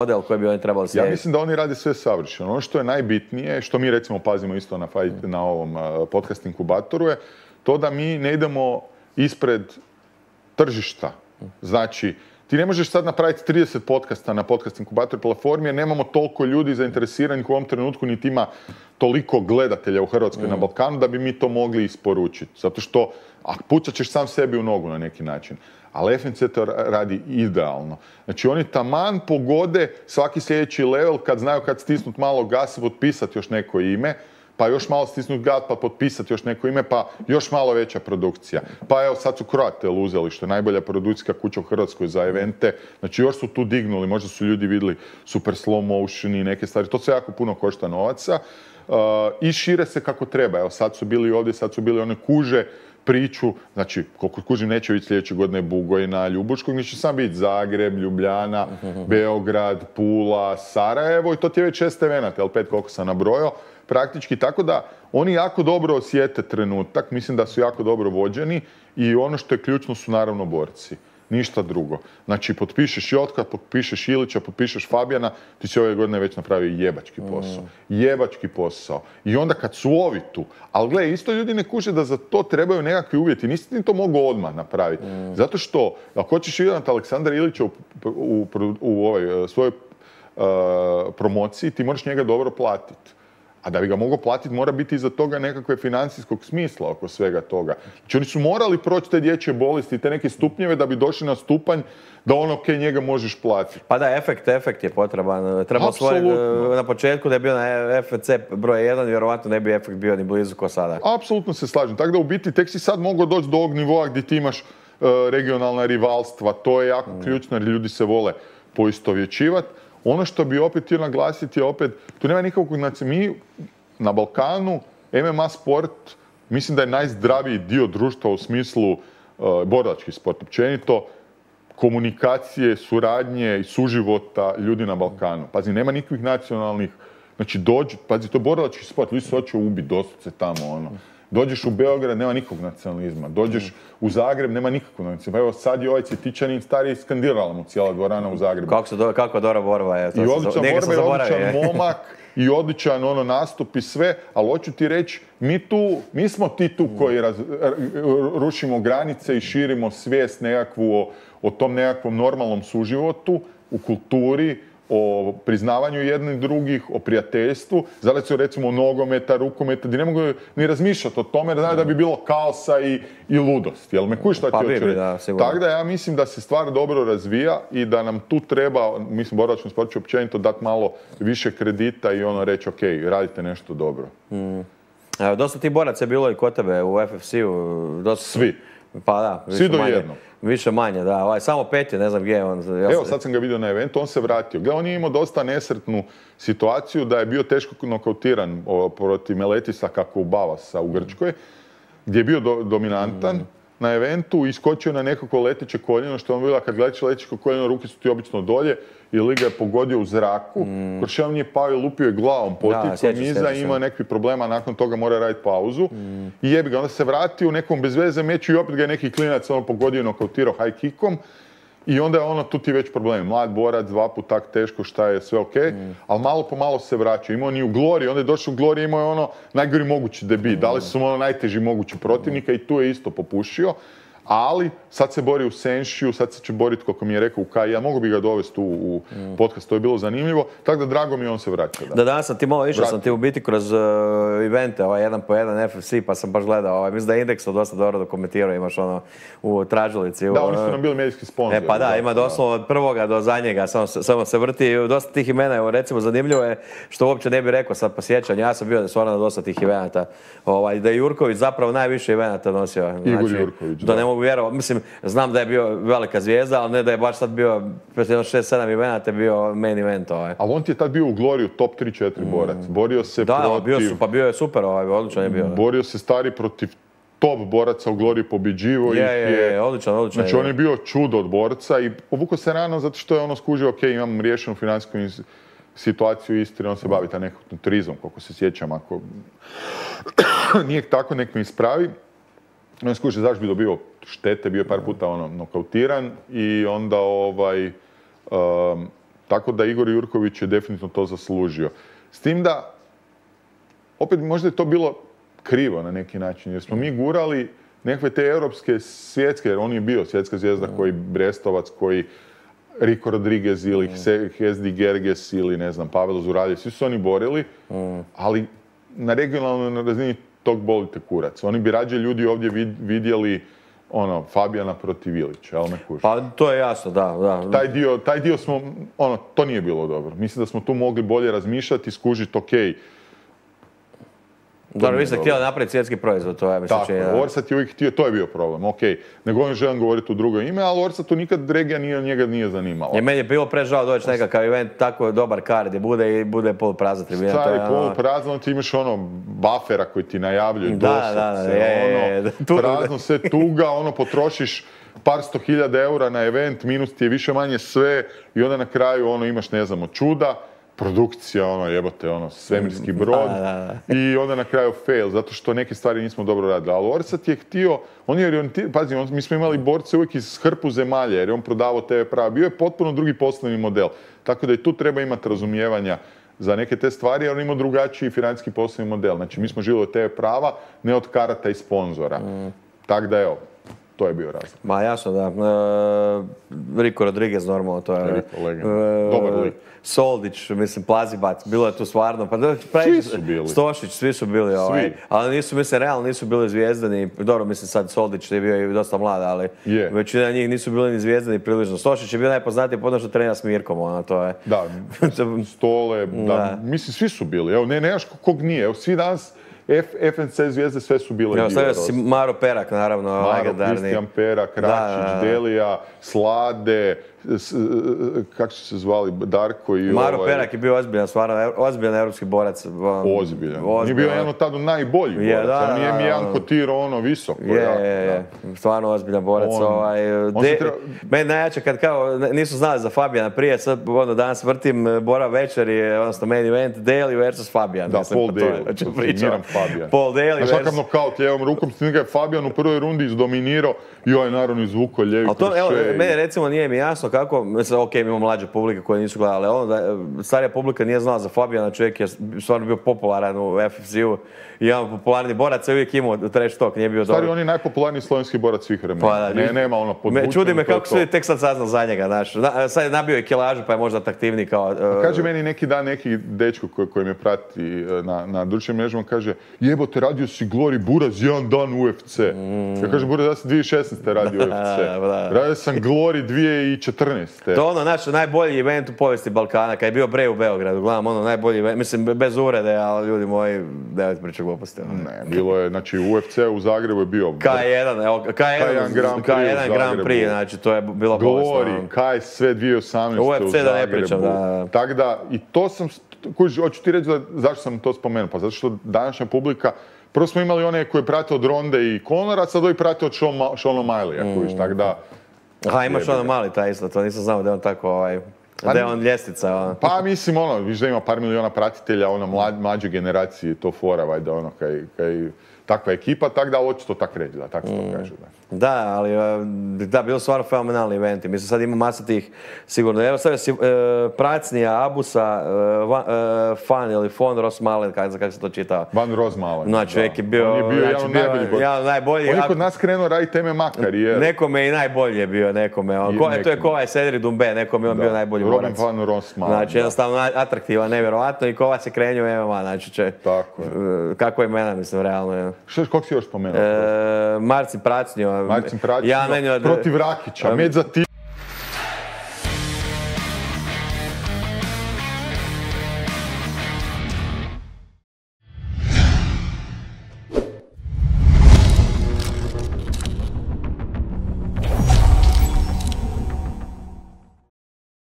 model koji bi oni trebali slijediti? Ja mislim da oni rade sve savršeno. Ono što je najbitnije, što mi recimo pazimo isto na ovom podcast inkubatoru je to da mi ne idemo ispred tržišta. Znači, ti ne možeš sad napraviti 30 podcasta na podcast inkubator platformi jer nemamo toliko ljudi zainteresiranih u ovom trenutku, niti ima toliko gledatelja u Hrvatskoj na Balkanu da bi mi to mogli isporučiti. Zato što, pucat ćeš sam sebi u nogu na neki način. Ali FNC to radi idealno. Znači oni taman pogode svaki sljedeći level kad znaju kad stisnut malo gas, potpisati još neko ime, pa još malo stisnut gas, pa potpisati još neko ime, pa još malo veća produkcija. Pa evo sad su Croatel uzeli, što je najbolja produkcijska kuća u Hrvatskoj za evente. Znači još su tu dignuli, možda su ljudi vidjeli super slow motion i neke stvari. To sve jako puno košta novaca. I šire se kako treba. Evo sad su bili ovdje, sad su bili one kuže priču, znači koliko kužim neće biti sljedeće godine Bugojna, Ljubuškog, neće sam biti Zagreb, Ljubljana, Beograd, Pula, Sarajevo i to ti je već 6 evenata, jel 5 koliko sam nabrojao, praktički, tako da oni jako dobro osjete trenutak, mislim da su jako dobro vođeni i ono što je ključno su naravno borci. Ništa drugo. Znači, potpišeš Jotka, potpišeš Ilića, potpišeš Fabijana, ti si ove godine već napravio jebački posao. Jebački posao. I onda kad su ovi tu, ali gle, isto ljudi ne kuže da za to trebaju nekakvi uvjeti. Nisi ti to mogao odmah napraviti. Zato što, ako hoćeš vidjeti Aleksandra Ilića u ovoj svojoj promociji, ti moraš njega dobro platiti. A da bi ga mogao platiti, mora biti iza toga nekakve financijskog smisla oko svega toga. Znači oni su morali proći te dječje bolesti i te neke stupnjeve da bi došli na stupanj da njega možeš platiti. Pa da, efekt je potreban. Treba na početku da je bio na FNC broj 1, vjerovatno ne bi efekt bio ni blizu ko sada. Apsolutno se slažem. Tako da u biti tek si sad mogao doći do ovog nivoa gdje ti imaš regionalna rivalstva. To je jako ključno jer ljudi se vole poistovjećivati. Ono što bi opet htio naglasiti je opet, tu nema nikakvog, znači mi na Balkanu, MMA sport, mislim da je najzdraviji dio društva u smislu borilački sport, općenito, komunikacije, suradnje i suživota ljudi na Balkanu. Pazi, nema nikakvih nacionalnih, znači pazi, to je borilački sport, ljudi se hoće ubiti doslovce tamo, Dođeš u Beograd, nema nikog nacionalizma. Dođeš u Zagreb, nema nikakvog nacionalizma. Evo sad je ovaj Cvjetičanin stari skandirala mu cijela dvorana u Zagrebu. Kako dobra borba je. I odličan borba, i odličan momak, i odličan nastup i sve, ali hoću ti reći, mi smo ti tu koji rušimo granice i širimo svijest nekakvu o tom nekakvom normalnom suživotu, u kulturi, o priznavanju jednih drugih, o prijateljstvu. Zato su recimo nogometa, rukometa, gdje ne mogu ni razmišljati o tome, jer znaju da bi bilo kaosa i ludosti. Jel me kuj šta ti hoću reći? Tako da ja mislim da se stvar dobro razvija i da nam tu treba, mislim, borilačkom sportu ću općenito dati malo više kredita i reći, ok, radite nešto dobro. Dosta ti boraca je bilo i kod tebe u FFC-u. Svi. Pa da, svi do jednog. Više manje, da. Samo Pet je, ne znam gdje je on. Evo, sad sam ga vidio na eventu, on se vratio. On je imao dosta nesretnu situaciju da je bio teško nokautiran protiv Meletisa kako u Bavasa u Grčkoj, gdje je bio dominantan na eventu, iskočio na nekako leteće koljeno, što je on bila kad gledaš leteće koljeno, ruke su ti obično dolje i liga je pogodio u zraku. Krošev nije pao i lupio je glavom poticom iza i imao nekakvih problema, nakon toga mora raditi pauzu. I jebi ga, onda se vratio u nekom bezveze meču i opet ga je neki klinac pogodio i nokautirao high kickom. I onda je tu ti već problem. Mlad borac, 2 put tak teško, šta je sve ok, ali malo po malo se vraća. Imao ni u Glori, onda je došao u Glori, imao je najgori mogući debit. Dali su mu najteži mogući protivnika i tu je isto popušio. Ali sad se bori u Senšiju, sad se će boriti, kako mi je rekao, u Kaji. Ja mogu bi ga dovesti u podcast, to je bilo zanimljivo. Tako da drago mi on se vraća. Da, danas sam ti malo išao, sam ti u biti kroz evente, jedan po jedan FFC, pa sam baš gledao. Mislim da je Indeks dosta dobro dokumentirao, imaš u tražilici. Da, oni su nam bili medijski sponzori. Pa da, ima doslovno od prvoga do zadnjega, samo se vrti. Dosta tih imena, evo recimo zanimljivo je, što uopće ne bih rekao sad po sjećanju, ja sam bio da su na dosta tih evenata. Da je Jurković zapravo najviše evenata nosio. Igor Jurković, da. Ne mogu vjerovati, mislim, znam da je bio velika zvijezda, ali ne da je baš sad bio, pred 6-7 evenata bio main event. Ali on ti je tad bio u Gloriju top 3-4 borac. Borio se protiv... Da, bio je super, odličan je bio. Borio se stari protiv top boraca u Gloriji, pobjeđivo ih je. Odličan. Znači on je bio čudo od borca i povukao se rano zato što je skužio, ok, imam riješenu financijsku situaciju u Istri, on se bavi ta nekakvim turizmom, koliko se sjećam, ako nije tako, nek me ispravi. On skuži zašto bi dobio štete, bio je par puta nokautiran i onda Tako da Igor Jurković je definitivno to zaslužio. S tim da, opet možda je to bilo krivo na neki način, jer smo mi gurali nekakve te europske, svjetske, jer on je bio svjetska zvijezda koji Brestovac, koji Rico Rodriguez ili Hesdi Gerges ili ne znam, Pavel Zuraljev, svi su oni borili, ali na regionalnoj razini tog bolite kurac. Oni bi rađe ljudi ovdje vidjeli Fabijana protiv Ilića, ali ne kuži. Pa to je jasno, da. Taj dio smo, to nije bilo dobro. Mislim da smo tu mogli bolje razmišljati, skužiti, okej. Dobro, vi ste htjeli napraviti svjetski proizvod, to je mislim činjeno. Tako, Orsat je uvijek htio, to je bio problem, okej. Nego želim govoriti u drugo ime, ali Orsatu nikad regija njega nije zanimala. I meni je bilo prežao doći nekakav event, tako dobar kard je bude poluprazna tribina. Stari poluprazno, ti imaš buffera koji ti najavljuje doslovce, prazno sve tuga, potrošiš par 100.000 eura na event, minus ti je više manje sve i onda na kraju imaš, ne znam, od čuda, produkcija, jebote, svemirski brod i onda na kraju fail, zato što neke stvari nismo dobro radili. Ali Orsat je htio, on je orijentiran, pazi, mi smo imali borce uvijek iz hrpu zemalja, jer je on prodavao TV prava. Bio je potpuno drugi poslovni model. Tako da i tu treba imati razumijevanja za neke te stvari, jer on ima drugačiji financijski poslovni model. Znači, mi smo živjeli od TV prava, ne od karata i sponzora. Tako da, evo, to je bio razlog. Ma jasno, da. Rico Rodriguez, normalno, to je... Dobar lik. Soldić, mislim, Plazibac, bilo je tu stvarno, svi su bili. Stošić, svi su bili, ali nisu, mislim, realno nisu bili zvijezdani, dobro, mislim, sad Soldić je bio i dosta mlad, ali većina njih nisu bili ni zvijezdani prilično. Stošić je bio najpoznatiji po što trenira s Mirkom, to je... Da, Stole, da, mislim, svi su bili, evo, nemaš kog nije, evo, svi danas FNC zvijezde sve su bile dio. Stavio si Maro Perak, naravno, legendarni. Kristijan Perak, Račić, Delija, Slade, kako su se zvali, Darko i Maro Perak je bio ozbiljan, stvarno, ozbiljan evropski borac. Ozbiljan. Nije bio jedan od tada najboljih boraca, on nije mi jedan kotirao visoko. Je, stvarno ozbiljan borac. Meni najjače kad kao nisu znali za Fabijana prije, sad danas vrtim Bora večeri, odnosno main event, Daly versus Fabijan. Da, Paul Daly, Fabijan. Paul Daly versus... Znaš kakav nokaut lijevom rukom, s njega je Fabijan u prvoj rundi izdominirao i ovaj naravno izvukao lijevi krošej. Mene recimo nije mi jasno kako, mislim, mi imamo mlađe publike koje nisu gledali, ali starija publika nije znala za Fabijana, čovjek je stvarno bio popularan u FFC-u i jedan popularni borac je uvijek imao trash talk, nije bio dobro. Stari, on je najpopularniji slovenski borac svih vremena. Nema podvučeno. Čudi me kako su tek sad saznali za njega, znaš. Sad je nabio i kilažu pa je možda atraktivniji kao... Kaže meni neki dan neki dečko koji me prati na društvenim mrežama, kaže jebote, radio si Glory Buraz jedan dan UFC. Ja kažem, Buraz, ja sam 2016. radio UFC. Radio sam Glory 2014. To naš najbolji event u povijesti Balkana, kad je bio Brej u Beogradu, gledam, najbolji event, mislim, bez uvrede, ali ljudi moji, nemojte pričati gluposti. Ne, bilo je, znači, UFC u Zagrebu je bio... K1 Grand Prix, znači, to je bilo bolestno. Glory, Kaj sve 2018. UFC u Zagrebu. Da ne pričam, da. Tako da, i to sam, hoću ti reći zašto sam to spomenuo, pa zato što današnja publika, prvo smo imali one koje prate od Ronde i Conora, sad ovi prate od Seana O'Malley, tako da... Aha, ima Sean O'Malley taj isto, to nisam znao da je on tako, da je on ljestvica. Pa mislim, viš da ima par miliona pratitelja, mlađe generacije, to fora, vajda, kaj takva ekipa, tako da hoće to tako reći, da, tako se to kaže, da. Da, ali da, bilo stvarno fenomenalni eventi. Mislim, sad ima masa tih, sigurno. Evo stavio si Pracnija, Abusa, Fan ili Fon Rosmalen, kako se to čita? Van Rosmalen. No, čovjek je bio... On je bio jedan od najboljih. On je kod nas krenuo raditi MMA karijeru. Nekome i najbolji je bio, nekome. To je Kovac Sedri Dumbe, nekome on bio najbolji borac. Robin Van Rosmalen. Znači, jednostavno atraktivan, nevjerovatno i Kovac je krenuo MMA, znači će... Tako je. Kako je imena, mislim, realno. Kako si još spomenuo? Marcin Pracnio. Marcin Pracnio protiv Rakića, med za ti.